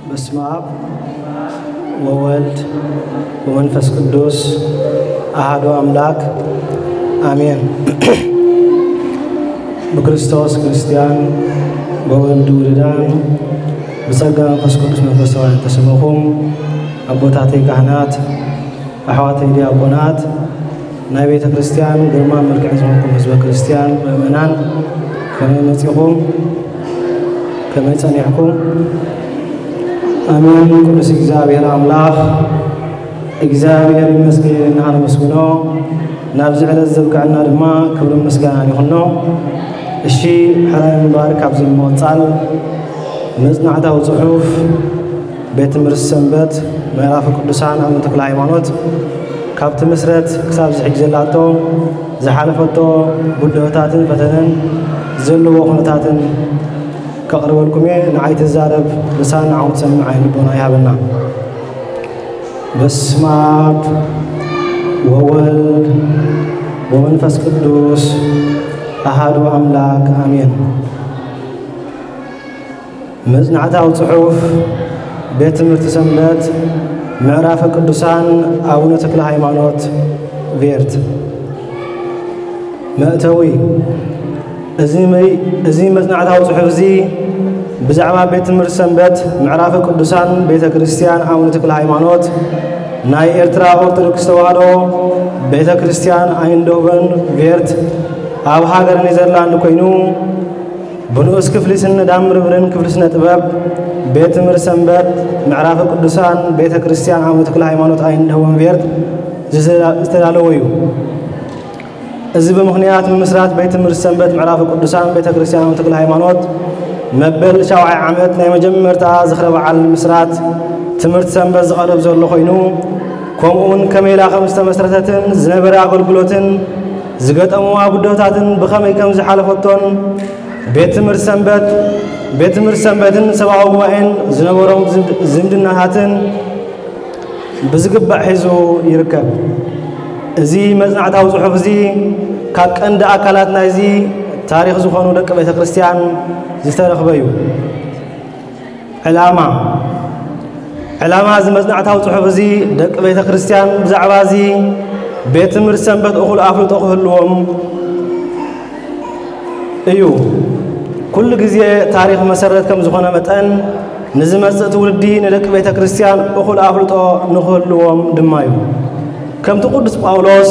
በስመ አብ ወወልድ ወመንፈስ ቅዱስ አሐዱ አምላክ አሜን። ብክርስቶስ ክርስቲያን፣ ብወልድ ውሉዳን፣ ብጸጋ መንፈስ ቅዱስ መንፈሳውያን ተሰመኹም፣ ኣቦታተይ ካህናት፣ ኣሕዋተይ ዲያቆናት፣ ናይ ቤተ ክርስቲያን ግርማ መልክዕ ዝኾንኩም ህዝበ ክርስቲያን ምእመናን፣ ከመይ መጺኹም? ከመይ ጸኒሕኩም? ኣሜን። ቅዱስ እግዚኣብሔር ኣምላኽ እግዚኣብሔር ይመስገን፣ ንኣመስግኖ። ናብዚ ዕለት ዘብቅዐና ድማ ክብርን ምስጋናን ይኹኖ። እሺ፣ ሕራይ ምንባር ካብዚ ብምቕጻል መጽናዕታዊ ጽሑፍ ቤት ትምህርቲ ሰንበት ምዕራፈ ቅዱሳን ኣቡነ ተክለ ሃይማኖት ካብ ትምስረት ክሳብ ዝሕጅ ዘላቶ ዝሓለፈቶ ብድሆታትን ፈተነን ዘለዎ ኩነታትን ከቕርበልኩም እየ። ንዓይ ትዛረብ ልሳን ንዓኹም ትሰምዕ ዓይኒ ልቦና ይሃበና። በስመ አብ ወወልድ ወመንፈስ ቅዱስ አሐዱ አምላክ አሜን። መጽናዕታዊ ጽሑፍ ቤት ትምህርቲ ሰንበት ምዕራፈ ቅዱሳን ኣቡነ ተክለ ሃይማኖት ቬርት። መእተዊ። እዚ መ-፣ እዚ መጽናዕታዊ ጽሑፍ እዚ ብዛዕባ ቤት ትምህርቲ ሰንበት ምዕራፈ ቅዱሳን ቤተ ክርስቲያን ኣቡነ ተክለ ሃይማኖት ናይ ኤርትራ ኦርቶዶክስ ተዋህዶ ቤተ ክርስቲያን ኣይንድሆቨን ቬርት ኣብ ሃገር ኔዘርላንድ ኮይኑ ብንኡስ ክፍሊ ስነ ዳምርብርን ክፍሊ ስነ ጥበብ ቤት ትምህርቲ ሰንበት ምዕራፈ ቅዱሳን ቤተ ክርስቲያን ኣቡነ ተክለ ሃይማኖት ኣይንድሆቨን ቬርት ዝተዳለወ እዩ። እዚ ብምኽንያት ምምስራት ቤት ትምህርቲ ሰንበት ምዕራፈ ቅዱሳን ቤተ ክርስቲያን ኣቡነ ተክለ ሃይማኖት መበል ሻውዓይ ዓመት ናይ መጀመርታ ዝኽረ በዓል ምስራት ትምህርቲ ሰንበት ዝቐርብ ዘሎ ኮይኑ፣ ከምኡውን ከመይ ኢላ ከም ዝተመስረተትን ዝነበረ ኣገልግሎትን ዝገጠምዋ ብድሆታትን ብኸመይ ከም ዝሓለፈቶን ቤት ትምህርቲ ሰንበት፣ ቤት ትምህርቲ ሰንበትን ሰብኣዊ ጉባኤን ዝነበሮም ዝምድ-፣ ዝምድናታትን ብዝግባእ ሒዙ ይርከብ። እዚ መጽናዕታዊ ጽሑፍ እዚ ካብ ቀንዲ ኣካላት ናይዚ ታሪኽ ዝኾኑ ደቂ ቤተ ክርስቲያን ዝተረኽበ እዩ። ዕላማ። ዕላማ እዚ መጽናዕታዊ ጽሑፍ እዚ ደቂ ቤተ ክርስቲያን ብዛዕባ እዚ ቤት ትምህርቲ ሰንበት እኹል ኣፍልጦ ክህልዎም እዩ። ኩሉ ግዜ ታሪኽ መሰረት ከም ዝኾነ መጠን፣ ንዝመጽእ ትውልዲ ንደቂ ቤተ ክርስቲያን እኹል ኣፍልጦ ንኽህልዎም ድማ እዩ። ከምቲ ቅዱስ ጳውሎስ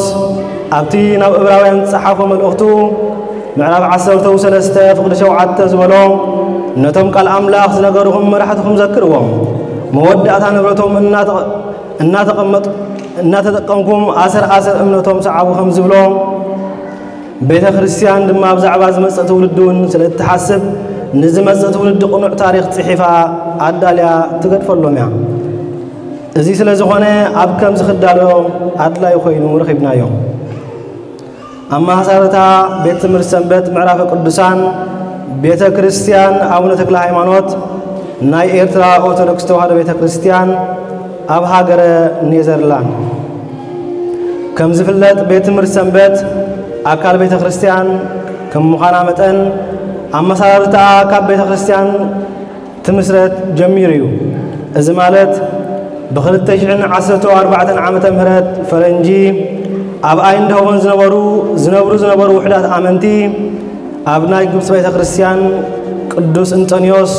ኣብቲ ናብ ዕብራውያን ዝጸሓፎ መልእኽቱ ምዕራፍ ዓሰርተ ሰለስተ ፍቕዲ ሸውዓተ ዝበሎ፣ "ነቶም ቃል ኣምላኽ ዝነገሩኹም መራሕትኹም ዘክርዎም፣ መወዳእታ ንብረቶም እናተ-፣ እናተቐመጥ-፣ እናተጠቀምኩም ኣሰር ኣሰር እምነቶም ሰዓቡ" ከም ዝብሎ፣ ቤተ ክርስቲያን ድማ ብዛዕባ ዝመጽእ ትውልዲ እውን ስለ እትሓስብ፣ ንዝመጽእ ትውልዲ ቅኑዕ ታሪኽ ጽሒፋ ኣዳልያ ትገድፈሎም እያ። እዚ ስለ ዝኾነ፣ ኣብ ከምዚ ክዳሎ ኣድላዪ ኮይኑ ረኺብናዮ። ኣመሃሳርታ ቤት ትምህርቲ ሰንበት ምዕራፈ ቅዱሳን ቤተ ክርስቲያን ኣቡነ ተክለ ሃይማኖት ናይ ኤርትራ ኦርቶዶክስ ተዋህዶ ቤተ ክርስቲያን ኣብ ሃገረ ኔዘርላንድ። ከም ዝፍለጥ፣ ቤት ትምህርቲ ሰንበት ኣካል ቤተ ክርስቲያን ከም ምዃና መጠን፣ ኣመሰራርታኣ ካብ ቤተ ክርስቲያን ትምስረት ጀሚሩ እዩ። እዚ ማለት፣ ብኽልተ ሽሕን ዓሰርተ ኣርባዕተን ዓመተ ምህረት ፈረንጂ፣ ኣብ ኣይንድሆቨን ዝነበሩ፣ ዝነብሩ ዝነበሩ ውሑዳት ኣመንቲ፣ ኣብ ናይ ግብጺ ቤተ ክርስቲያን ቅዱስ እንጠንዮስ፣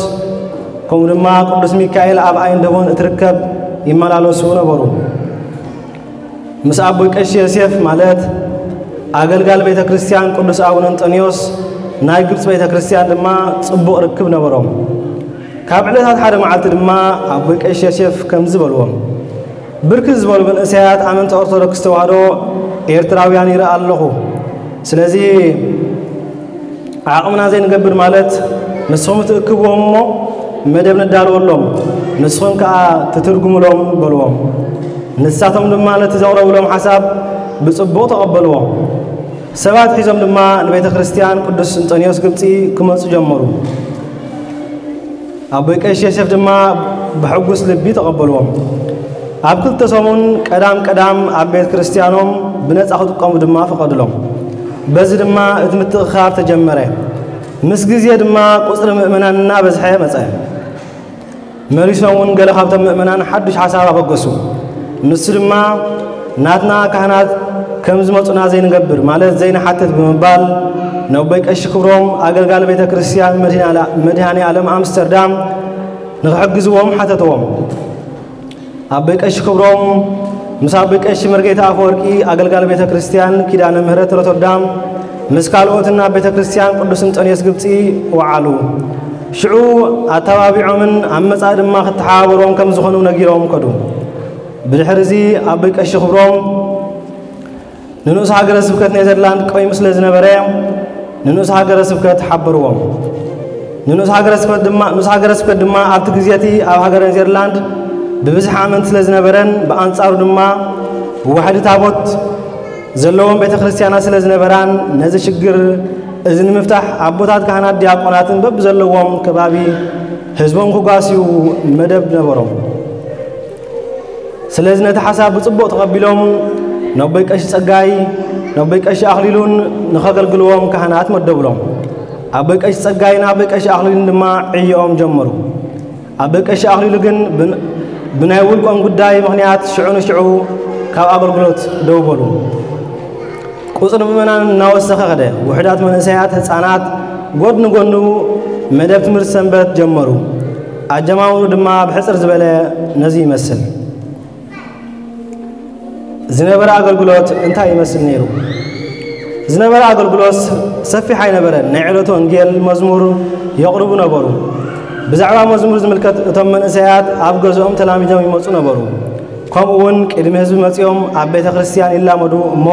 ከምኡ ድማ ቅዱስ ሚካኤል ኣብ ኣይንድሆቨን እትርከብ ይመላለሱ ነበሩ። ምስ ኣቦይ ቀሺ ዮሴፍ፣ ማለት ኣገልጋሊ ቤተ ክርስቲያን ቅዱስ ኣቡነ እንጠንዮስ፣ ናይ ግብጺ ቤተ ክርስቲያን ድማ ጽቡቕ ርክብ ነበሮም። ካብ ዕለታት ሓደ መዓልቲ ድማ ኣቦይ ቀሺ ዮሴፍ ከምዚ በልዎም፣ "ብርክት ዝበሉ መንእሰያት ኣመንቲ ኦርቶዶክስ ተዋህዶ ኤርትራውያን ይርኢ ኣለኹ። ስለዚ ዓቕምና ዘይንገብር ማለት፣ ንስኹም ትእክብዎም እሞ መደብ ነዳልወሎም፣ ንስኹም ከኣ ትትርጉምሎም" በልዎም። ንሳቶም ድማ ነቲ ዘቕረብሎም ሓሳብ ብጽቡቕ ተቐበልዎ። ሰባት ሒዞም ድማ ንቤተ ክርስቲያን ቅዱስ እንጠንዮስ ግብጺ ክመጹ ጀመሩ። ኣቦይ ቀሺ ዮሴፍ ድማ ብሕጉስ ልቢ ተቐበልዎም። ኣብ ክልተ ሰሙን ቀዳም ቀዳም ኣብ ቤተ ክርስቲያኖም ብነጻ ክጥቀሙ ድማ ፈቐድሎም። በዚ ድማ እቲ ምትእኽኻብ ተጀመረ። ምስ ግዜ ድማ ቁጽሪ ምእመናን እናበዝሐ መጸ። መሊሶም እውን ገለ ካብቶም ምእመናን ሓዱሽ ሓሳብ ኣበገሱ። ንሱ ድማ ናትና ካህናት ከም ዝመጹና ዘይንገብር፣ ማለት ዘይንሓትት ብምባል፣ ነቦይ ቀሺ ክብሮም ኣገልጋሊ ቤተ ክርስቲያን መድኃኔ ዓለም ኣምስተርዳም ንኽሕግዝዎም ሓተትዎም። ኣቦይ ቀሺ ክብሮም ምስ ኣቦይ ቀሺ መርጌታ ኣፈወርቂ ኣገልጋሊ ቤተ ክርስቲያን ኪዳነ ምህረት ሮተርዳም ምስ ካልኦትን ኣብ ቤተ ክርስቲያን ቅዱስ እንጠንዮስ ግብጺ ወዓሉ። ሽዑ ኣተባቢዖምን ኣብ መጻኢ ድማ ክተሓባበሮም ከም ዝኾኑ ነጊሮም ከዱ። ብድሕሪ እዚ ኣቦይ ቀሺ ክብሮም ንንኡስ ሃገረ ስብከት ኔዘርላንድ ቀይሙ ስለ ዝነበረ ንንኡስ ሃገረ ስብከት ሓበርዎም። ንንኡስ ሃገረ ስብከት ድማ፣ ንኡስ ሃገረ ስብከት ድማ ኣብቲ ግዜ እቲ ኣብ ሃገረ ኔዘርላንድ ብብዝሒ ኣመንቲ ስለ ዝነበረን ብኣንጻሩ ድማ ዋሕዲ ታቦት ዘለዎም ቤተ ክርስቲያናት ስለ ዝነበራን ነዚ ሽግር እዚ ንምፍታሕ ኣቦታት ካህናት ዲያቆናትን በብዘለዎም ከባቢ ህዝቦም ክጓስዩ መደብ ነበሮም። ስለዚ ነቲ ሓሳብ ብጽቡቕ ተቐቢሎም ነቦይ ቀሺ ጸጋይ፣ ነቦይ ቀሺ ኣኽሊሉን ንኸገልግልዎም ካህናት መደብሎም። ኣቦይ ቀሺ ጸጋይን ኣቦይ ቀሺ ኣኽሊሉን ድማ ዕዮኦም ጀመሩ። ኣቦይ ቀሺ ኣኽሊሉ ግን ብን-፣ ብናይ ውልቆም ጉዳይ ምኽንያት ሽዑ ንሽዑ ካብ ኣገልግሎት ደው በሉ። ቁጽሪ ምእመናን እናወሰኸ ኸደ። ውሑዳት መንእሰያት፣ ህጻናት ጎድኒ ጎኑ መደብ ትምህርቲ ሰንበት ጀመሩ። ኣጀማምሩ ድማ ብሕጽር ዝበለ ነዚ ይመስል። ዝነበረ ኣገልግሎት እንታይ ይመስል ነይሩ? ዝነበረ ኣገልግሎት ሰፊሕ ኣይነበረን። ናይ ዕለቱ ወንጌል መዝሙር የቕርቡ ነበሩ። ብዛዕባ መዝሙር ዝምልከት እቶም መንእሰያት ኣብ ገዝኦም ተላሚዶም ይመጹ ነበሩ። ከምኡ እውን ቅድሚ ህዝቢ መጺኦም ኣብ ቤተ ክርስቲያን ይላመዱ እሞ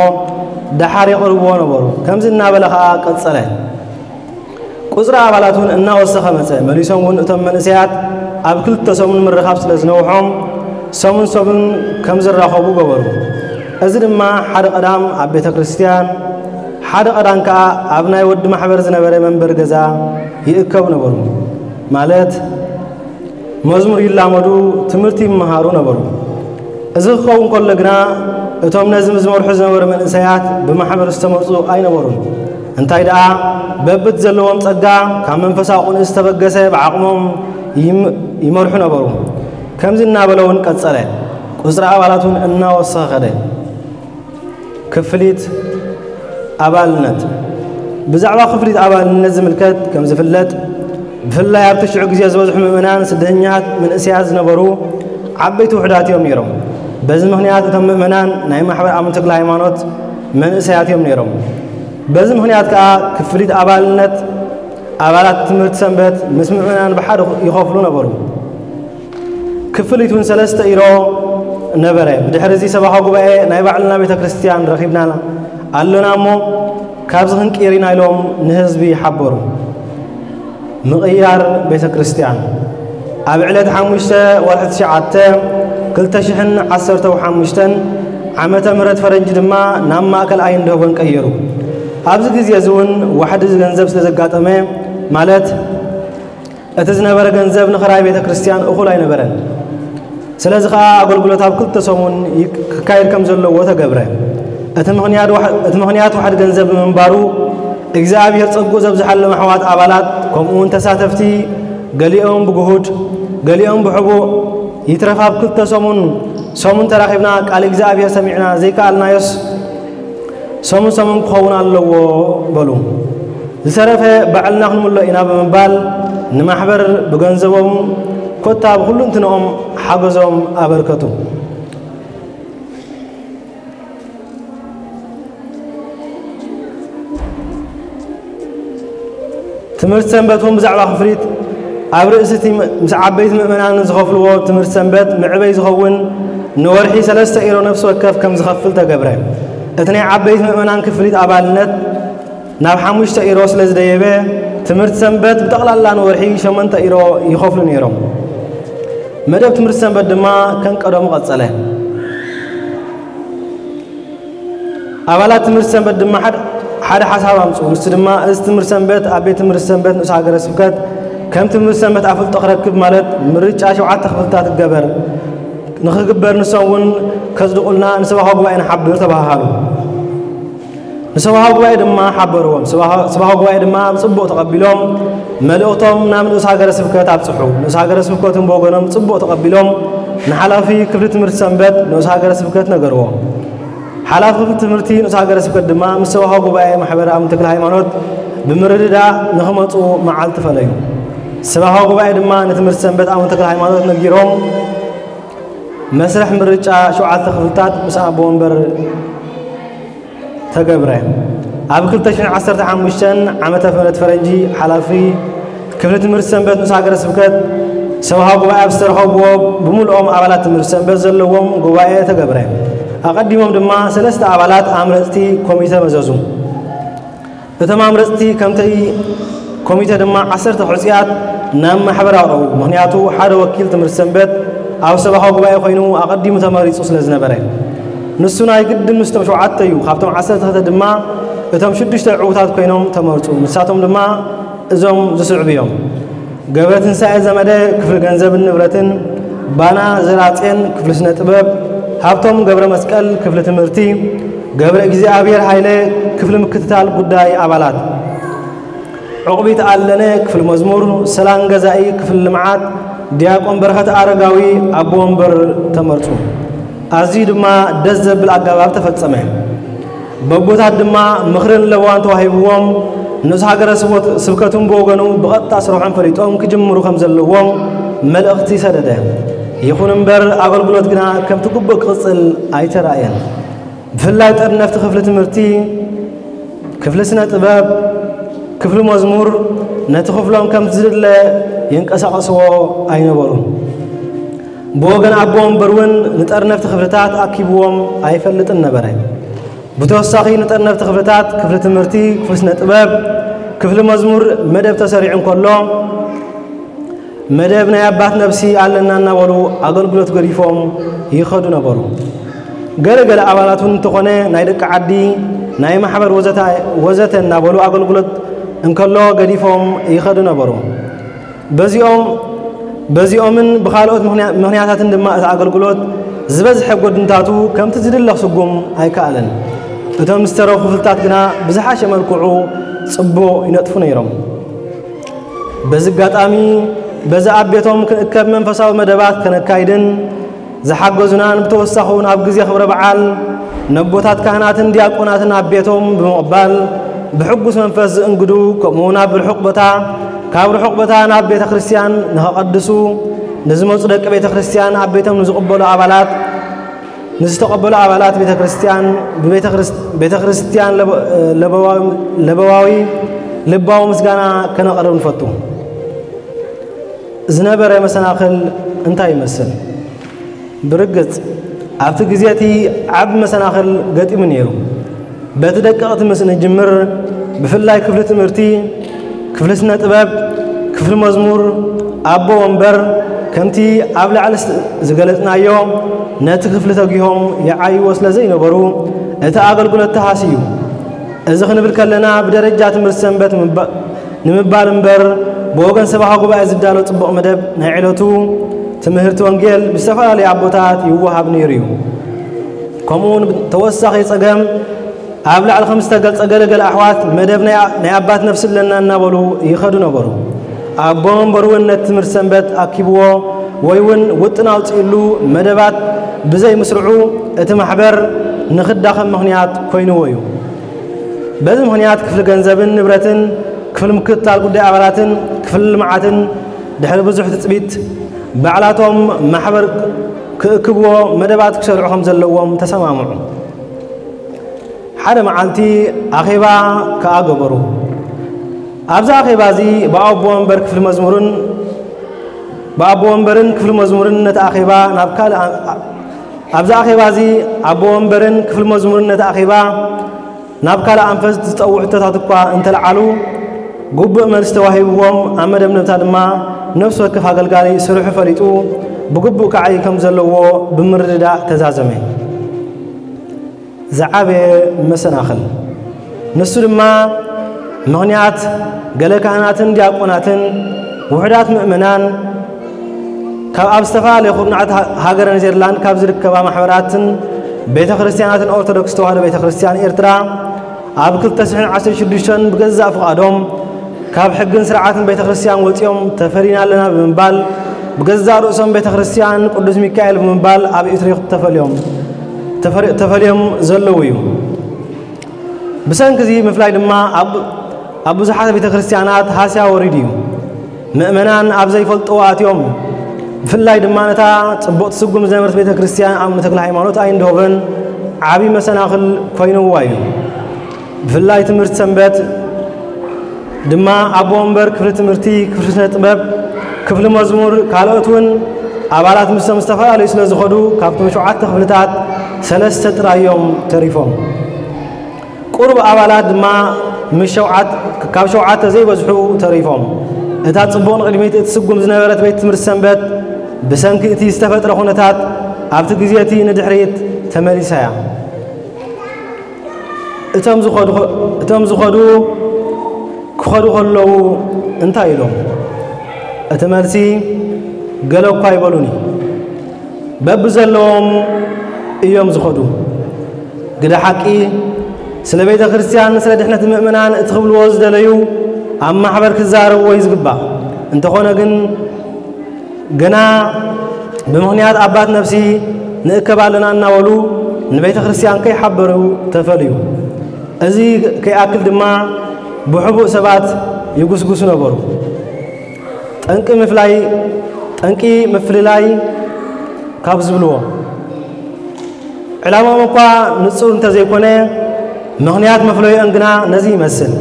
ደሓር የቕርብዎ ነበሩ። ከምዚ እናበለ ኸኣ ቀጸለ። ቁጽሪ ኣባላት እውን እናወሰኸ መጸ። መሊሶም እውን እቶም መንእሰያት ኣብ ክልተ ሰሙን ምርኻብ ስለ ዝነውሖም ሰሙን ሰሙን ከም ዝራኸቡ ገበሩ። እዚ ድማ ሓደ ቀዳም ኣብ ቤተ ክርስቲያን፣ ሓደ ቀዳም ከኣ ኣብ ናይ ወዲ ማሕበር ዝነበረ መንበሪ ገዛ ይእከቡ ነበሩ። ማለት መዝሙር ይላመዱ፣ ትምህርቲ ይመሃሩ ነበሩ። እዚ ክኸውን ከሎ ግና እቶም ነዚ ዝመርሑ ዝነበሩ መንእሰያት ብማሕበር ዝተመርጹ ኣይነበሩን። እንታይ ደኣ በብቲ ዘለዎም ጸጋ ካብ መንፈሳዊ ቅንኢ ዝተበገሰ ብዓቕሞም ይም-፣ ይመርሑ ነበሩ። ከምዚ እናበለ እውን ቀጸለ። ቁጽሪ ኣባላት እውን እናወሰኸ ኸደ። ክፍሊት ኣባልነት። ብዛዕባ ክፍሊት ኣባልነት ዝምልከት ከም ዝፍለጥ፣ ብፍላይ ኣብቲ ሽዑ ግዜ ዝበዝሑ ምእመናን ስደተኛታት መንእሰያት ዝነበሩ ዓበይቲ ውሑዳት እዮም ነይሮም። በዚ ምኽንያት እቶም ምእመናን ናይ ማሕበር ኣመንቲ ተክለ ሃይማኖት መንእሰያት እዮም ነይሮም። በዚ ምኽንያት ከኣ ክፍሊት ኣባልነት ኣባላት ትምህርቲ ሰንበት ምስ ምእመናን ብሓደ ይኸፍሉ ነበሩ። ክፍሊት እውን ሰለስተ ኢሮ ነበረ። ብድሕሪ እዚ ሰበኻ ጉባኤ ናይ ባዕልና ቤተ ክርስቲያን ረኺብና ኣሎና እሞ ካብዚ ክንቅይር ኢና ኢሎም ንህዝቢ ሓበሩ። ምቕያር ቤተ ክርስቲያን። ኣብ ዕለት ሓሙሽተ ወርሒ ትሽዓተ ክልተ ሽሕን ዓሰርተ ሓሙሽተን ዓመተ ምህረት ፈረንጂ ድማ ናብ ማእከል ኣይንድሆቨን ቀየሩ። ኣብዚ ግዜ እዚ እውን ዋሕዲ ገንዘብ ስለ ዘጋጠመ፣ ማለት እቲ ዝነበረ ገንዘብ ንኽራይ ቤተ ክርስቲያን እኹል ኣይነበረን። ስለዚ ኸኣ ኣገልግሎት ኣብ ክልተ ሰሙን ይክ-፣ ክካየድ ከም ዘለዎ ተገብረ። እቲ ምኽንያት ዋሕ-፣ እቲ ምኽንያት ዋሕዲ ገንዘብ ብምንባሩ እግዚኣብሔር ጸግኡ ዘብዝሓሎም ኣሕዋት ኣባላት ከምኡ እውን ተሳተፍቲ ገሊኦም ብግሁድ ገሊኦም ብሕቡእ ይትረፍ ኣብ ክልተ ሰሙን ሰሙን ተራኺብና ቃል እግዚኣብሔር ሰሚዕና ዘይከኣልናዮስ ሰሙን ሰሙን ክኸውን ኣለዎ በሉ። ዝተረፈ ባዕልና ክንምሎ ኢና ብምባል ንማሕበር ብገንዘቦም ኮታ ብኩሉ እንትንኦም ሓገዞም ኣበርከቱ። ትምህርቲ ሰንበት እውን ብዛዕባ ክፍሊት ኣብ ርእሲ እቲ ም-፣ ምስ ዓበይቲ ምእመናን ዝኸፍልዎ ትምህርቲ ሰንበት መዕበይ ዝኸውን ንወርሒ ሰለስተ ኢሮ ነፍሲ ወከፍ ከም ዝኸፍል ተገብረ። እቲ ናይ ዓበይቲ ምእመናን ክፍሊት ኣባልነት ናብ ሓሙሽተ ኢሮ ስለ ዝደየበ ትምህርቲ ሰንበት ብጠቕላላ ንወርሒ ሸሞንተ ኢሮ ይኸፍሉ ነይሮም። መደብ ትምህርቲ ሰንበት ድማ ከም ቀደሙ ቀጸለ። ኣባላት ትምህርቲ ሰንበት ድማ ሓደ፣ ሓደ ሓሳብ ኣምፅኡ። ንሱ ድማ እዚ ትምህርቲ ሰንበት ኣብ ቤት ትምህርቲ ሰንበት ንኡስ ሃገረ ስብከት ከም ትምህርቲ ሰንበት ኣፍልጦ ክረክብ ማለት ምርጫ ሸውዓተ ክፍልታት ይገበር ንኽግበር ንሶም እውን ከጽድቑልና ንሰባኻ ጉባኤ ንሓብር ተባሃሃሉ። ንሰባኻ ጉባኤ ድማ ሓበርዎም። ሰባኻ ጉባኤ ድማ ብጽቡቕ ተቐቢሎም መልእኽቶም ናብ ንኡስ ሃገረ ስብከት ኣብጽሑ። ንኡስ ሃገረ ስብከትን ብወገኖም ጽቡቕ ተቐቢሎም ንሓላፊ ክፍሊ ትምህርቲ ሰንበት ንኡስ ሃገረ ስብከት ነገርዎ። ሓላፊ ክፍሊ ትምህርቲ ንኡስ ሃገረ ስብከት ድማ ምስ ሰባኻ ጉባኤ ማሕበር ኣቡነ ተክለ ሃይማኖት ብምርድዳእ ንኽመጹ መዓልቲ ፈለዩ። ሰባኻ ጉባኤ ድማ ንትምህርቲ ሰንበት ኣቡነ ተክለ ሃይማኖት ነጊሮም መስርሕ ምርጫ ሸውዓተ ክፍልታት ምስ ኣቦ ወንበር ተገብረ። ኣብ ክልተ ሽሕን ዓሰርተ ሓሙሽተን ዓመተ ምህረት ፈረንጂ ሓላፊ ክፍሊ ትምህርቲ ሰንበት ንኡስ ሃገረ ስብከት ሰብሃ ጉባኤ ኣብ ዝተረኸብዎ ብምልኦም ኣባላት ትምህርቲ ሰንበት ዘለዎም ጉባኤ ተገብረ። ኣቐዲሞም ድማ ሰለስተ ኣባላት ኣምረፅቲ ኮሚተ መዘዙ። እቶም ኣምረፅቲ ከምቲ ኮሚተ ድማ ዓሰርተ ሕፁያት ናብ ማሕበር ኣቕረቡ። ምኽንያቱ ሓደ ወኪል ትምህርቲ ሰንበት ኣብ ሰብሃ ጉባኤ ኮይኑ ኣቐዲሙ ተመሪፁ ስለ ዝነበረ፣ ንሱ ናይ ግድን ምስቶም ሸውዓተ እዩ። ካብቶም ዓሰርተ ክልተ ድማ እቶም ሽዱሽተ ዕዉታት ኮይኖም ተመርፁ። ንሳቶም ድማ እዞም ዝስዕቡ እዮም። ገብረ ትንሳኤ ዘመደ ክፍሊ ገንዘብን ንብረትን፣ ባና ዘራጼን ክፍሊ ስነ ጥበብ፣ ሃብቶም ገብረ መስቀል ክፍሊ ትምህርቲ፣ ገብረ እግዚኣብሔር ሃይለ ክፍሊ ምክትታል ጉዳይ ኣባላት፣ ዕቑቢት ኣለነ ክፍሊ መዝሙር፣ ሰላም ገዛኢ ክፍሊ ልምዓት፣ ዲያቆን በረኸት ኣረጋዊ ኣቦ ወንበር ተመርጹ። ኣዝዩ ድማ ደስ ዘብል ኣገባብ ተፈጸመ። በቦታት ድማ ምኽርን ለበዋን ተዋሂብዎም፣ ንኡስ ሃገረ ስብከት-፣ ስብከቱን ብወገኑ ብቐጥታ ስርሖም ፈሊጦም ክጅምሩ ከም ዘለዎም መልእኽቲ ሰደደ። ይኹን እምበር ኣገልግሎት ግና ከምቲ ግቡእ ክቕጽል ኣይተራእየን። ብፍላይ ጠርነፍቲ ክፍሊ ትምህርቲ፣ ክፍሊ ስነ ጥበብ፣ ክፍሊ መዝሙር ነቲ ክፍሎም ከም ዝድለ የንቀሳቐስዎ ኣይነበሩን። ብወገን ኣቦ ወንበር እውን ንጠርነፍቲ ክፍልታት ኣኪብዎም ኣይፈልጥን ነበረ። ብተወሳኺ ንጠርነፍቲ ክፍልታት ክፍሊ ትምህርቲ፣ ክፍሊ ስነ ጥበብ፣ ክፍሊ መዝሙር መደብ ተሰሪዑ እንከሎ፣ መደብ ናይ ኣባት ነብሲ ኣለና እናበሉ ኣገልግሎት ገዲፎም ይኸዱ ነበሩ። ገለ ገለ ኣባላት እውን እንተኾነ ናይ ደቂ ዓዲ፣ ናይ ማሕበር ወዘተ፣ ወዘተ እናበሉ ኣገልግሎት እንከሎ ገዲፎም ይኸዱ ነበሩ። በዚኦም፣ በዚኦምን ብኻልኦት ምኽንያ-፣ ምኽንያታትን ድማ እቲ ኣገልግሎት ዝበዝሐ ጎድንታቱ ከምቲ ዝድለ ክስጉም ኣይከኣለን። እቶም ዝተረፉ ክፍልታት ግና ብዝሓሸ መልክዑ ጽቡቕ ይነጥፉ ነይሮም። በዚ ኣጋጣሚ በዚ ኣብ ቤቶም ክንእከብ መንፈሳዊ መደባት ከነካይድን ዝሓገዙናን ብተወሳኺ እውን ኣብ ግዜ ክብረ በዓል ነቦታት ካህናትን ዲያቆናትን ኣብ ቤቶም ብምቕባል ብሕጉስ መንፈስ ዝእንግዱ፣ ከምኡ እውን ኣብ ርሑቕ ቦታ፣ ካብ ርሑቕ ቦታ ናብ ቤተ ክርስቲያን ንኸቐድሱ ንዝመጹ ደቂ ቤተ ክርስቲያን ኣብ ቤቶም ንዝቕበሉ ኣባላት፣ ንዝተቐበሉ ኣባላት ቤተ ክርስቲያን ብቤተ ክርስ-፣ ቤተ ክርስቲያን ለበ-፣ ለበዋዊ፣ ለበዋዊ ልባዊ ምስጋና ከነቕርብ ንፈቱ። ዝነበረ መሰናኽል እንታይ ይመስል? ብርግጽ ኣብቲ ግዜ እቲ ዓቢ መሰናኽል ገጢሙ ነይሩ። በቲ ደቀቕቲ ምስ እንጅምር፣ ብፍላይ ክፍሊ ትምህርቲ፣ ክፍሊ ስነ ጥበብ፣ ክፍሊ መዝሙር፣ ኣቦ ወንበር፣ ከምቲ ኣብ ላዕሊ ስ-፣ ዝገለጽናዮ ነቲ ክፍሊ ተጊሆም ይዓይዎ ስለ ዘይነበሩ፣ እቲ ኣገልግሎት ተሃስዩ። እዚ ክንብል ከለና ብደረጃ ትምህርቲ ሰንበት ምባ-፣ ንምባል እምበር፣ ብወገን ሰባኻ ጉባኤ ዝዳሎ ጽቡቕ መደብ ናይ ዕለቱ ትምህርቲ ወንጌል ብዝተፈላለዩ ኣቦታት ይወሃብ ነይሩ እዩ። ከምኡ እውን ተወሳኺ ጸገም ኣብ ላዕሊ ከም ዝተገልጸ ገለ ገለ ኣሕዋት መደብ ናይ ኣ-፣ ናይ ኣባት ነፍሲ ኣለና እናበሉ ይኸዱ ነበሩ። ኣቦ መንበሩ እውን ነቲ ትምህርቲ ሰንበት ኣኪብዎ ወይ እውን ውጥን ኣውጺእሉ መደባት ብዘይምስርዑ እቲ ማሕበር ንኽዳኸም ምኽንያት ኮይንዎ እዩ። በዚ ምኽንያት ክፍሊ ገንዘብን ንብረትን፣ ክፍሊ ምክትታል ጉዳይ ኣባላትን ክፍሊ ልምዓትን ድሕሪ ብዙሕ ትጽቢት ባዕላቶም ማሕበር ክእክብዎ መደባት ክሰርዑ ከም ዘለዎም ተሰማምዑ። ሓደ መዓልቲ ኣኼባ ከኣ ገበሩ። ኣብዚ ኣኼባ እዚ ብኣቦ ወንበር ክፍሊ መዝሙርን ብኣቦ ወንበርን ክፍሊ መዝሙርን ነቲ ኣኼባ ናብ ካልእ ኣ-፣ ኣብዚ ኣኼባ እዚ ኣቦ ወንበርን ክፍሊ መዝሙርን ነቲ ኣኼባ ናብ ካልእ ኣንፈት ዝጠውዕ ሕቶታት እኳ እንተለዓሉ፣ ግቡእ መልሲ ተዋሂብዎም፣ ኣብ መደምደምታ ድማ ነፍሲ ወከፍ ኣገልጋሊ ስርሑ ፈሊጡ ብግቡእ ክዓዪ ከም ዘለዎ ብምርድዳእ ተዛዘመ። ዝዓበየ መሰናኽል። ንሱ ድማ ምኽንያት ገለ ካህናትን ዲያቆናትን ውሑዳት ምእመናን ካብ ኣብ ዝተፈላለየ ኩርናዓት ሃ- ሃገረ ኔዘርላንድ ካብ ዝርከባ ማሕበራትን ቤተ ክርስቲያናትን ኦርቶዶክስ ተዋህዶ ቤተ ክርስቲያን ኤርትራ ኣብ ክልተ ሽሕን ዓሰርተ ሽዱሽተን ብገዛእ ፍቓዶም ካብ ሕግን ስርዓትን ቤተ ክርስቲያን ወፂኦም ተፈሊና ኣለና ብምባል ብገዛእ ርእሶም ቤተ ክርስቲያን ቅዱስ ሚካኤል ብምባል ኣብ ኢትሪክ ተፈልዮም ተፈሪ- ተፈልዮም ዘለዉ እዩ። ብሰንኪ እዚ ምፍላይ ድማ ኣብ ኣብ ብዙሓት ቤተ ክርስቲያናት ሃስያ ወሪዱ እዩ። ምእመናን ኣብ ዘይፈልጥዎ ኣትዮም። ብፍላይ ድማ ነታ ጽቡቕ ትስጉም ዝነበረት ቤተ ክርስቲያን ኣቡነ ተክለ ሃይማኖት ኣይንድሆቨን ዓቢ መሰናኽል ኮይንዋ እዩ። ብፍላይ ትምህርቲ ሰንበት ድማ ኣቦ ወንበር ክፍሊ ትምህርቲ፣ ክፍሊ ስነ ጥበብ፣ ክፍሊ መዝሙር፣ ካልኦት እውን ኣባላት ምስቶም ዝተፈላለዩ ስለ ዝኸዱ ካብቶም ሸውዓተ ክፍልታት ሰለስተ ጥራይ እዮም ተሪፎም። ቁሩብ ኣባላት ድማ ምስ ሸውዓት ካብ ሸውዓተ ዘይበዝሑ ተሪፎም። እታ ጽቡቕ ንቕድሚት እትስጉም ዝነበረት ቤት ትምህርቲ ሰንበት ብሰንኪ እቲ ዝተፈጥረ ኩነታት ኣብቲ ግዜ እቲ ንድሕሪት ተመሊሳ እያ። እቶም ዝኸዱ እቶም ዝኸዱ ክኸዱ ከለዉ እንታይ ኢሎም? እቲ መልሲ ገለ እኳ ኣይበሉኒ። በብዘለዎም እዮም ዝኸዱ። ግደ ሓቂ ስለ ቤተ ክርስቲያን ስለ ድሕነት ምእመናን እቲ ክብልዎ ዝደለዩ ኣብ ማሕበር ክዛረብዎ እዩ ዝግባእ። እንተኾነ ግን ገና ብምኽንያት ኣባት ነፍሲ ንእከብ ኣለና እናበሉ ንቤተ ክርስቲያን ከይሓበሩ ተፈልዩ። እዚ ከይኣክል ድማ ብሕቡእ ሰባት ይጉስጉሱ ነበሩ። ጠንቂ ምፍላይ ጠንቂ ምፍልላይ ካብ ዝብልዎ ዕላማኦም እኳ ንጹር እንተዘይኮነ ምኽንያት መፍለይኦን ግና ነዚ ይመስል።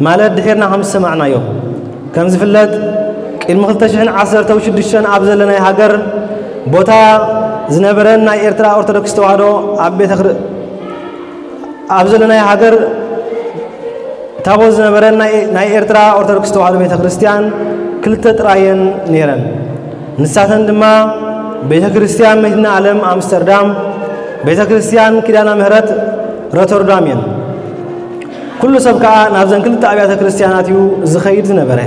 ማለት ድሒርና ከም ዝሰማዕናዮ ከም ዝፍለጥ ቅድሚ ክልተ ሽሕን ዓሰርተ ሽዱሽተን ኣብ ዘለናይ ሃገር ቦታ ዝነበረን ናይ ኤርትራ ኦርቶዶክስ ተዋህዶ ኣብ ቤተ ክር- ኣብ ዘለናይ ሃገር ታቦት ዝነበረን ናይ ናይ ኤርትራ ኦርቶዶክስ ተዋህዶ ቤተ ክርስቲያን ክልተ ጥራየን ነይረን። ንሳተን ድማ ቤተ ክርስቲያን መድኃኔ ዓለም ኣምስተርዳም፣ ቤተ ክርስቲያን ኪዳነ ምሕረት ሮተርዳም እየን። ኩሉ ሰብ ከኣ ናብዘን ክልተ ኣብያተ ክርስቲያናት እዩ ዝኸይድ ዝነበረ።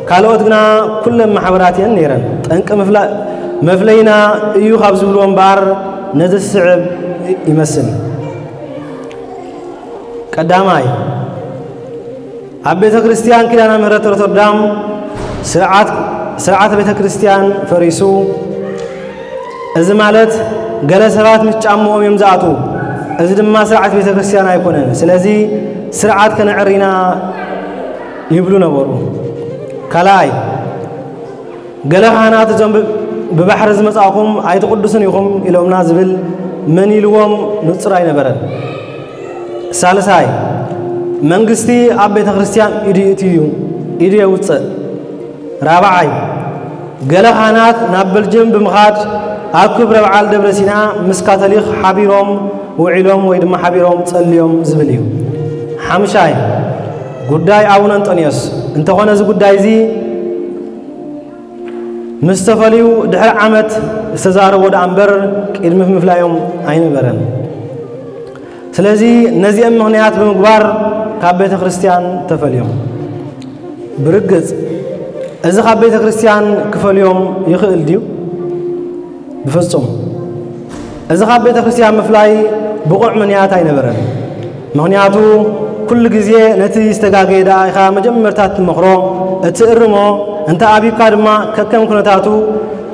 ካልኦት ግና ኩለን ማሕበራት እየን ነይረን። ጠንቂ ምፍላ- መፍለይና እዩ ካብ ዝብልዎ እምበኣር ነዚ ዝስዕብ ይመስል። ቀዳማይ፣ ኣብ ቤተ ክርስቲያን ኪዳነ ምሕረት ሮተርዳም ስርዓት ስርዓት ቤተ ክርስቲያን ፈሪሱ። እዚ ማለት ገለ ሰባት ምስ ጫምኦም እዮም ዝኣትዉ። እዚ ድማ ስርዓት ቤተ ክርስቲያን ኣይኮነን። ስለዚ ስርዓት ከነዕሪ ኢና ይብሉ ነበሩ። ካልኣይ፣ ገለ ካህናት እዞም ብ- ብባሕሪ ዝመጻእኹም ኣይትቕዱስን ኢኹም ኢሎምና ዝብል መን ኢልዎም ንጹር ኣይነበረን። ሳልሳይ፣ መንግስቲ ኣብ ቤተ ክርስቲያን ኢዱ ይእትዩ እዩ፣ ኢዱ የውጽእ። ራብዓይ፣ ገለ ካህናት ናብ በልጅም ብምኻድ ኣብ ክብረ በዓል ደብረ ሲና ምስ ካቶሊክ ሓቢሮም ውዒሎም ወይ ድማ ሓቢሮም ጸልዮም ዝብል እዩ። ሓምሻይ፣ ጉዳይ ኣቡነ እንጠንዮስ እንተኾነ እዚ ጉዳይ እዚ ምስ ተፈልዩ ድሕሪ ዓመት ዝተዛረቦ ደኣ እምበር ቅድሚ ምፍላዮም ኣይነበረን። ስለዚ ነዚኦም ምኽንያት ብምግባር ካብ ቤተ ክርስቲያን ተፈልዮም። ብርግጽ እዚ ካብ ቤተ ክርስቲያን ክፈልዮም ይኽእል ድዩ? ብፍጹም። እዚ ካብ ቤተ ክርስቲያን ምፍላይ ብቑዕ ምኽንያት ኣይነበረን። ምኽንያቱ ኩሉ ግዜ ነቲ ዝተጋገየ ደኣ ኢኻ መጀመርታ ትመኽሮ፣ እትእርሞ፣ እንተ ኣብዩካ ድማ ከከም ኩነታቱ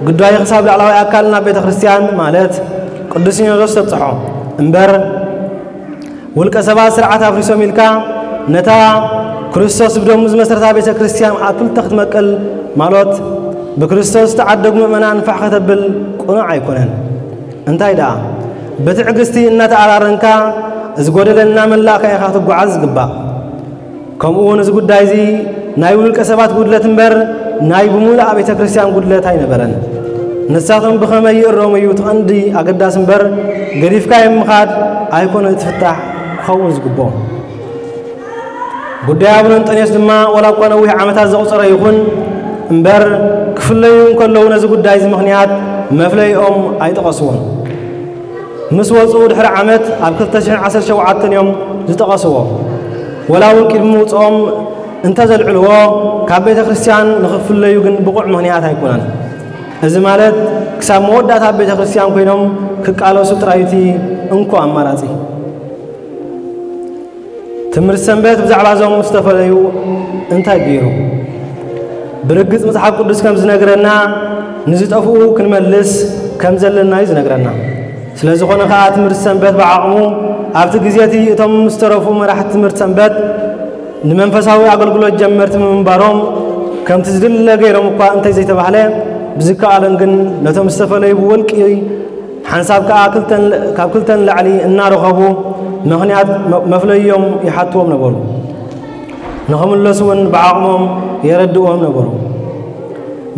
ጉዳዩ ክሳብ ላዕለዋይ ኣካል ናብ ቤተ ክርስቲያን ማለት ቅዱስ ሲኖዶስ ተብጽሖ እምበር ውልቀ ሰባት ስርዓት ኣፍሪሶም ኢልካ ነታ ክርስቶስ ብደሙ ዝመሰረታ ቤተ ክርስቲያን ኣብ ክልተ ክትመቅል ማለት ብክርስቶስ ዝተዓደጉ ምእመናን ፋሕ ከተብል ቅኑዕ ኣይኮነን። እንታይ ደኣ ብትዕግስቲ እናተኣራረንካ ዝጎደለ እናመላእካ ኢኻ ትጓዓዝ ዝግባእ። ከምኡ እውን እዚ ጉዳይ እዚ ናይ ውልቀ ሰባት ጉድለት እምበር ናይ ብምሉእ ቤተ ክርስቲያን ጉድለት ኣይነበረን። ንሳቶም ብኸመይ ይእረሙ እዩ እቲ ቀንዲ ኣገዳሲ እምበር ገዲፍካዮም ምኻድ ኣይኮነ እቲ ፍታሕ ክኸውን ዝግብኦ። ጉዳይ ኣቡነ እንጠንዮስ ድማ ዋላ እኳ ነዊሕ ዓመታት ዘቑጸረ ይኹን እምበር ክፍለዩ እንከለዉ ነዚ ጉዳይ እዚ ምኽንያት መፍለይኦም ኣይጠቐስዎን። ምስ ወፁ ድሕሪ ዓመት ኣብ ክልተ ሽሕን ዓሰርተ ሸውዓተን እዮም ዝጠቐስዎ። ወላ እውን ቅድሚ ምውፅኦም እንተዘልዕልዎ፣ ካብ ቤተ ክርስቲያን ንኽፍለዩ ግን ብቑዕ ምኽንያት ኣይኮነን። እዚ ማለት ክሳብ መወዳእታ ኣብ ቤተ ክርስቲያን ኮይኖም ክቃለሱ ጥራይ እቲ እንኮ ኣማራጺ። ትምህርቲ ሰንበት ብዛዕባ እዞም ዝተፈለዩ እንታይ ገይሩ? ብርግጽ መጽሓፍ ቅዱስ ከም ዝነግረና፣ ንዝጠፍኡ ክንመልስ ከም ዘለና እዩ ዝነግረና። ስለ ዝኾነ ኸኣ ትምህርቲ ሰንበት ብዓቕሙ ኣብቲ ግዜ እቲ እቶም ዝተረፉ መራሕቲ ትምህርቲ ሰንበት ንመንፈሳዊ ኣገልግሎት ጀመርቲ ምንባሮም ከምቲ ዝድለ ገይሮም እኳ እንተዘይተባህለ፣ ብዝከኣለን ግን ነቶም ዝተፈለዩ ብውልቂ ሓንሳብ ከኣ ክልተን ካብ ክልተን ላዕሊ እናረኸቡ ምኽንያት መ- መፍለዮም ይሓትዎም ነበሩ። ንኽምለሱ እውን ብዓቕሞም የረድእዎም ነበሩ።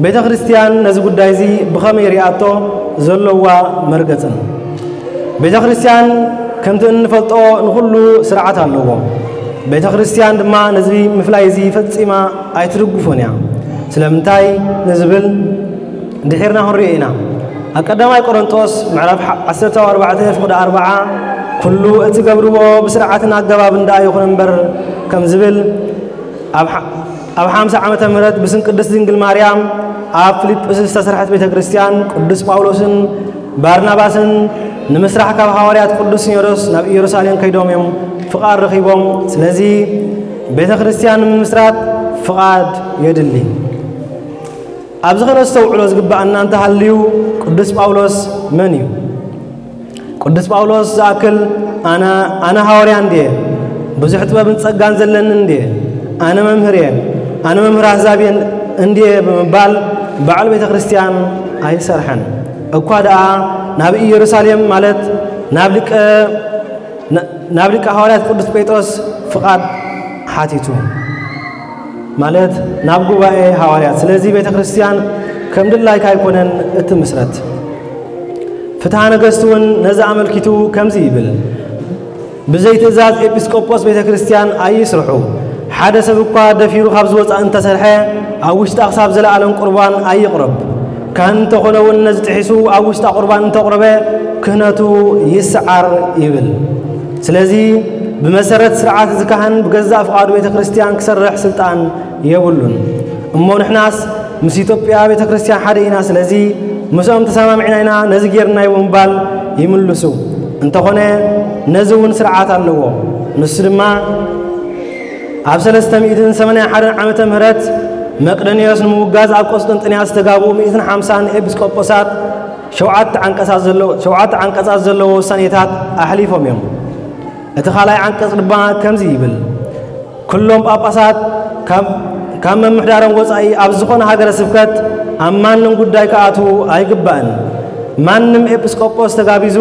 ቤተ ክርስቲያን ነዚ ጉዳይ እዚ ብኸመይ ሪኣቶ ዘለዋ መርገጽን። ቤተ ክርስቲያን ከምቲ እንፈልጦ ንኹሉ ስርዓት ኣለዎ። ቤተ ክርስቲያን ድማ ነዚ ምፍላይ እዚ ፈጺማ ኣይትድግፎን እያ። ስለምንታይ ንዝብል ድሒርና ክንሪኦ ኢና። ኣብ ቀዳማይ ቆሮንጦስ ምዕራፍ ዓሰርተ ኣርባዕተ ፍቕዲ ኣርባዓ፣ ኩሉ እትገብርዎ ብስርዓትን ኣገባብን ደኣ ይኹን እምበር ከም ዝብል ኣብ ሓ- ኣብ ሓምሳ ዓመተ ምህረት ብስም ቅድስት ድንግል ማርያም ኣብ ፊልጵስ ዝተሰርሐት ቤተ ክርስቲያን ቅዱስ ጳውሎስን ባርናባስን ንምስራሕ ካብ ሃዋርያት ቅዱስ ሲኖዶስ ናብ ኢየሩሳሌም ከይዶም እዮም ፍቓድ ረኺቦም። ስለዚ ቤተ ክርስቲያን ንምምስራት ፍቓድ የድሊ። ኣብዚ ከነስተውዕሎ ዝግባኣና እንተሃልዩ ቅዱስ ጳውሎስ መን እዩ? ቅዱስ ጳውሎስ ዝኣክል ኣነ ኣነ ሃዋርያ እንድየ፣ ብዙሕ ጥበብን ጸጋን ዘለኒ እንድየ፣ ኣነ መምህር እየ፣ ኣነ መምህር ኣህዛብ እየ እንድየ ብምባል ባዕሉ ቤተ ክርስቲያን ኣይሰርሐን። እኳ ደኣ ናብ ኢየሩሳሌም ማለት ናብ ሊቀ ናብ ሊቀ ሃዋርያት ቅዱስ ጴጥሮስ ፍቓድ ሓቲቱ ማለት ናብ ጉባኤ ሃዋርያት። ስለዚ ቤተ ክርስቲያን ከም ድላይካ ኣይኮነን እትምስረት። ፍትሐ ነገስት እውን ነዚ ኣመልኪቱ ከምዚ ይብል፣ ብዘይ ትእዛዝ ኤጲስቆጶስ ቤተ ክርስቲያን ኣይስርሑ። ሓደ ሰብ እኳ ደፊሩ ካብ ዝወፃእ እንተሰርሐ ኣብ ውሽጣ ክሳብ ዘለኣለም ቁርባን ኣይቕረብ። ካህን እንተኾነ እውን ነዚ ጥሒሱ ኣብ ውሽጣ ቁርባን እንተቕረበ ክህነቱ ይስዓር ይብል። ስለዚ ብመሰረት ስርዓት እዚ ካህን ብገዛእ ፍቓዱ ቤተ ክርስቲያን ክሰርሕ ስልጣን የብሉን። እሞ ንሕናስ ምስ ኢትዮጵያ ቤተ ክርስቲያን ሓደ ኢና፣ ስለዚ ምስኦም ተሰማሚዕና ኢና ነዚ ጌርናዮ ብምባል ይምልሱ። እንተኾነ ነዚ እውን ስርዓት ኣለዎ። ንሱ ድማ ኣብ ሰለስተ ሚእትን ሰማንያን ሓደን ዓመተ ምህረት መቅደንዮስ ንምውጋዝ ኣብ ቆስጠንጥንያ ዝተጋብኡ ሚእትን ሓምሳን ኤጲስቆጶሳት ሸውዓተ ዓንቀጻት ዘለዎ ውሳኔታት ኣሕሊፎም እዮም። እቲ ካልኣይ ዓንቀጽ ድማ ከምዚ ይብል፣ ኩሎም ጳጳሳት ካብ መምሕዳሮም ወጻኢ ኣብ ዝኾነ ሃገረ ስብከት ኣብ ማንም ጉዳይ ክኣትዉ ኣይግባእን። ማንም ኤጲስቆጶስ ተጋቢዙ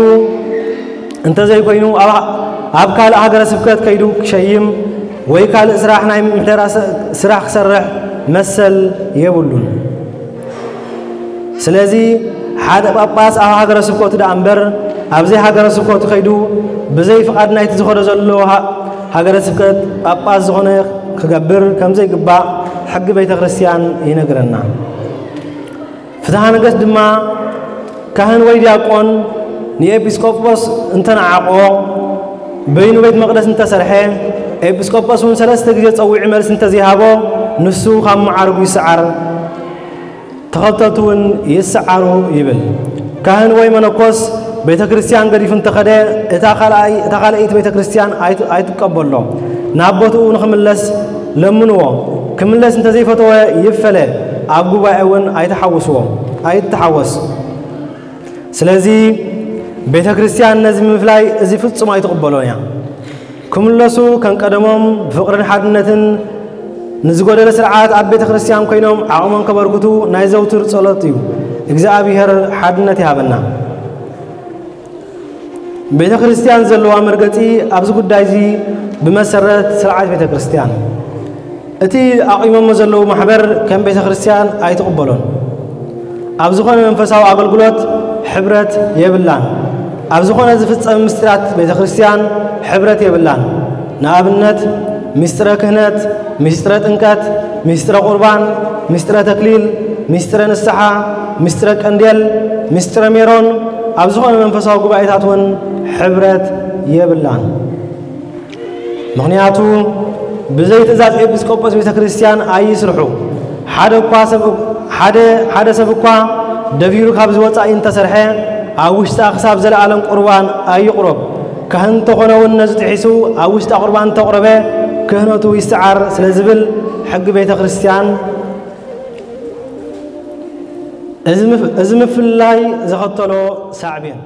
እንተዘይኮይኑ ኣብ ካልእ ሃገረ ስብከት ከይዱ ክሸይም ወይ ካልእ ስራሕ ናይ ምሕደራ ስራሕ ክሰርሕ መሰል የብሉን። ስለዚ ሓደ ጳጳስ ኣብ ሃገረ ስብከቱ ደኣ እምበር ኣብ ዘይሃገረ ስብከቱ ከይዱ ብዘይ ፍቓድ ናይቲ ዝኾነ ዘሎ ሃገረ ስብከት ጳጳስ ዝኾነ ክገብር ከም ዘይግባእ ሕጊ ቤተ ክርስቲያን ይነግረና። ፍትሐ ነገስት ድማ ካህን ወይ ዲያቆን ንኤጲስቆጶስ እንተነዓቆ በይኑ ቤት መቕደስ እንተሰርሐ ኤጲስቆጶስ እውን ሰለስተ ግዜ ጸዊዑ መልሲ እንተዘይሃቦ ንሱ ካብ መዓርጉ ይስዓር። ተኸተልቱ እውን ይስዓሩ ይብል። ካህን ወይ መነኮስ ቤተ ክርስቲያን ገዲፉ እንተኸደ እታ ካልኣይ እታ ካልኣይቲ ቤተ ክርስቲያን ኣይት- ኣይትቀበሎ። ናብ ቦትኡ ንኽምለስ ለምንዎ። ክምለስ እንተዘይፈተወ ይፈለ። ኣብ ጉባኤ እውን ኣይተሓውስዎ ኣይተሓወስ። ስለዚ ቤተ ክርስቲያን ነዚ ምፍላይ እዚ ፍጹም ኣይትቕበሎን እያ። ክምለሱ ከም ቀደሞም ብፍቕርን ሓድነትን ንዝጎደለ ስርዓት ኣብ ቤተ ክርስቲያን ኮይኖም ዓቕሞም ከበርክቱ ናይ ዘውትር ጸሎት እዩ። እግዚኣብሔር ሓድነት ይሃበና። ቤተ ክርስቲያን ዘለዋ መርገጺ ኣብዚ ጉዳይ እዚ ብመሰረት ስርዓት ቤተ ክርስቲያን እቲ ኣቑሞሞ ዘለዉ ማሕበር ከም ቤተ ክርስቲያን ኣይትቕበሎን። ኣብ ዝኾነ መንፈሳዊ ኣገልግሎት ሕብረት የብላን። ኣብ ዝኾነ ዝፍጸም ምስጢራት ቤተ ክርስቲያን ሕብረት የብላን። ንኣብነት ምስጢረ ክህነት፣ ምስጢረ ጥምቀት፣ ምስጢረ ቁርባን፣ ምስጢረ ተክሊል፣ ምስጢረ ንስሓ፣ ምስጢረ ቀንዴል፣ ምስጢረ ሜሮን ኣብ ዝኾነ መንፈሳዊ ጉባኤታት እውን ሕብረት የብላን። ምኽንያቱ ብዘይ ትእዛዝ ኤጲስቆጶስ ቤተ ክርስቲያን ኣይስርሑ። ሓደ እኳ ሰብ ሓደ ሓደ ሰብ እኳ ደፊሩ ካብ ዝወጻእ እንተሰርሐ፣ ኣብ ውሽጣ ክሳብ ዘለኣለም ቁርባን ኣይቕረብ። ካህን እንተኾነ እውን ነዚ ጥሒሱ ኣብ ውሽጣ ቁርባን እንተቕረበ፣ ክህነቱ ይስዓር ስለ ዝብል ሕጊ ቤተ ክርስቲያን፣ እዚ ምፍ- እዚ ምፍላይ ዘኸተሎ ሳዕቤን።